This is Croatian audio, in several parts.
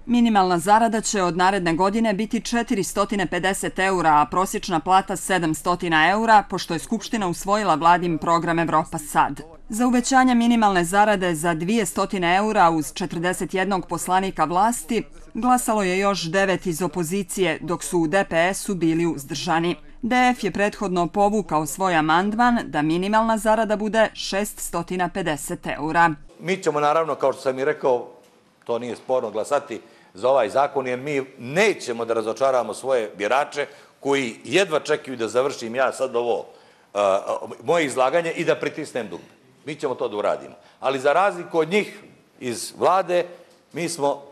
Minimalna zarada će od naredne godine biti 450 eura, a prosječna plata 700 eura, pošto je Skupština usvojila vladin program Evropa sad. Za uvećanje minimalne zarade za 200 eura uz 41 poslanika vlasti glasalo je još 9 iz opozicije, dok su u DPS-u bili uzdržani. DF je prethodno povukao svoj amandman da minimalna zarada bude 650 eura. Mi ćemo naravno, kao što sam i rekao, to nije sporno, glasati za ovaj zakon, jer mi nećemo da razočaramo svoje birače koji jedva čekaju da završim ja sad ovo moje izlaganje i da pritisnem dugme. Mi ćemo to da uradimo. Ali za razliku od njih iz vlade, mi smo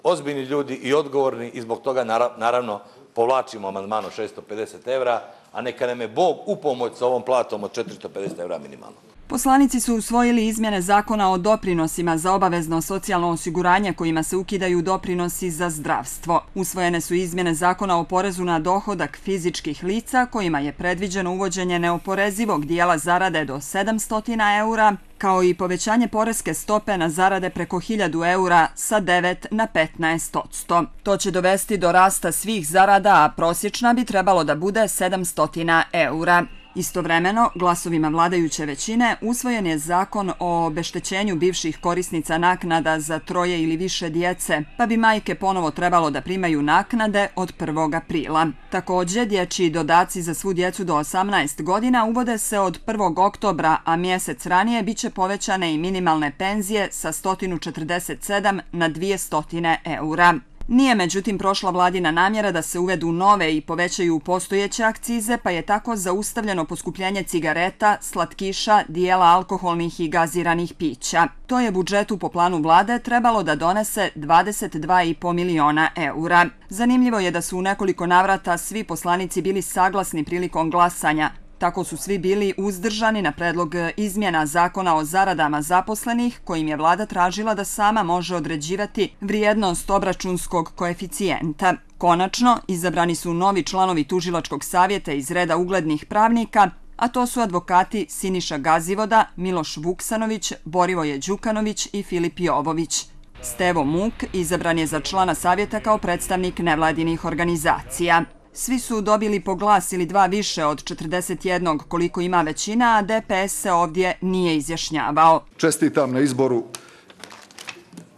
ozbiljni ljudi i odgovorni i zbog toga naravno povlačimo amandman od 650 evra, a neka nam je Bog u pomoć sa ovom platom od 450 evra minimalno. Poslanici su usvojili izmjene zakona o doprinosima za obavezno socijalno osiguranje kojima se ukidaju doprinosi za zdravstvo. Usvojene su izmjene zakona o porezu na dohodak fizičkih lica kojima je predviđeno uvođenje neoporezivog dijela zarade do 700 eura, kao i povećanje poreske stope na zarade preko 1000 eura sa 9 na 15%. To će dovesti do rasta svih zarada, a prosječna bi trebalo da bude 700 eura. Istovremeno, glasovima vladajuće većine usvojen je zakon o obeštećenju bivših korisnica naknada za 3 ili više djece, pa bi majke ponovo trebalo da primaju naknade od 1. aprila. Također, dječji dodaci za svu djecu do 18 godina uvode se od 1. oktobra, a mjesec ranije biće povećane i minimalne penzije sa 147 na 200 eura. Nije međutim prošla vladina namjera da se uvedu nove i povećaju postojeće akcize, pa je tako zaustavljeno poskupljenje cigareta, slatkiša, dijela alkoholnih i gaziranih pića. To je budžetu po planu vlade trebalo da donese 22,5 miliona eura. Zanimljivo je da su u nekoliko navrata svi poslanici bili saglasni prilikom glasanja. Tako su svi bili uzdržani na predlog izmjena zakona o zaradama zaposlenih, kojim je vlada tražila da sama može određivati vrijednost obračunskog koeficijenta. Konačno, izabrani su novi članovi tužilačkog savjeta iz reda uglednih pravnika, a to su advokati Siniša Gazivoda, Miloš Vuksanović, Borivoje Đukanović i Filip Jovović. Stevo Muk izabran je za člana savjeta kao predstavnik nevladinih organizacija. Svi su dobili po glas ili dva više od 41 koliko ima većina, a DPS se ovdje nije izjašnjavao. Čestitam na izboru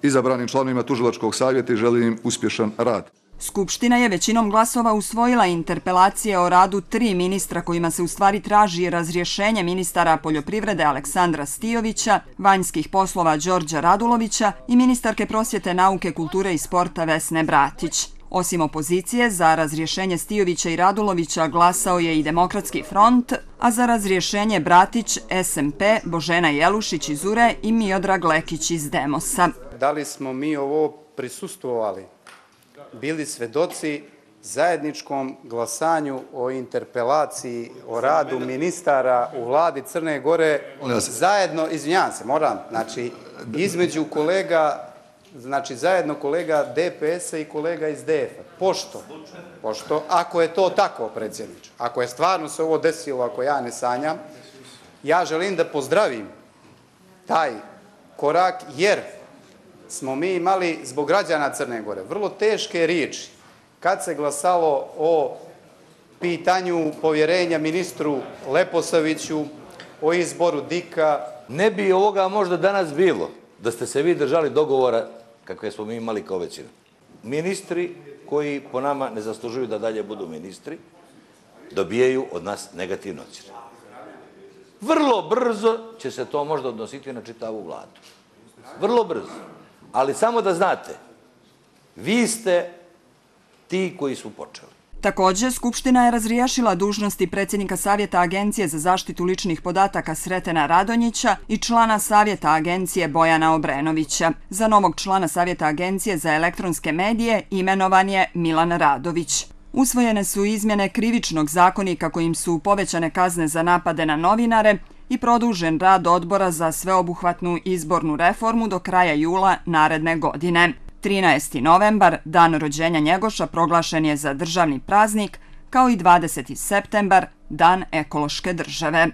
izabranim članovima tužilačkog savjeta i želim im uspješan rad. Skupština je većinom glasova usvojila interpelacije o radu 3 ministra kojima se u stvari traži razrješenje ministara poljoprivrede Aleksandra Stijovića, vanjskih poslova Đorđa Radulovića i ministarke prosvjete, nauke, kulture i sporta Vesne Bratić. Osim opozicije, za razrješenje Stijovića i Radulovića glasao je i Demokratski front, a za razrješenje Bratić, SMP, Božena Jelušić iz URE i Miodrag Lekić iz Demosa. Da li smo mi ovo prisustvovali, bili svedoci zajedničkom glasanju o interpelaciji o radu ministara u vladi Crne Gore, zajedno, izvinjavam se, moram, znači, između kolega, znači zajedno kolega DPS-a i kolega iz DF-a. Pošto, ako je to tako, predsjedniče, ako je stvarno se ovo desilo, ako ja ne sanjam, ja želim da pozdravim taj korak, jer smo mi imali zbog građana Crne Gore vrlo teške riječi kad se glasalo o pitanju povjerenja ministru Leposaviću, o izboru Dika. Ne bi ovoga možda danas bilo da ste se vi držali dogovora kakve smo mi imali kao većina. Ministri koji po nama ne zaslužuju da dalje budu ministri, dobijaju od nas negativne ocjene. Vrlo brzo će se to možda odnositi na čitavu vladu. Vrlo brzo. Ali samo da znate, vi ste ti koji su počeli. Također, Skupština je razriješila dužnosti predsjednika Savjeta Agencije za zaštitu ličnih podataka Sretena Radonjića i člana Savjeta Agencije Bojana Obrenovića. Za novog člana Savjeta Agencije za elektronske medije imenovan je Milan Radović. Usvojene su izmjene Krivičnog zakonika kojim su povećane kazne za napade na novinare i produžen rad odbora za sveobuhvatnu izbornu reformu do kraja jula naredne godine. 13. novembar, dan rođenja Njegoša, proglašen je za državni praznik, kao i 20. septembar, dan ekološke države.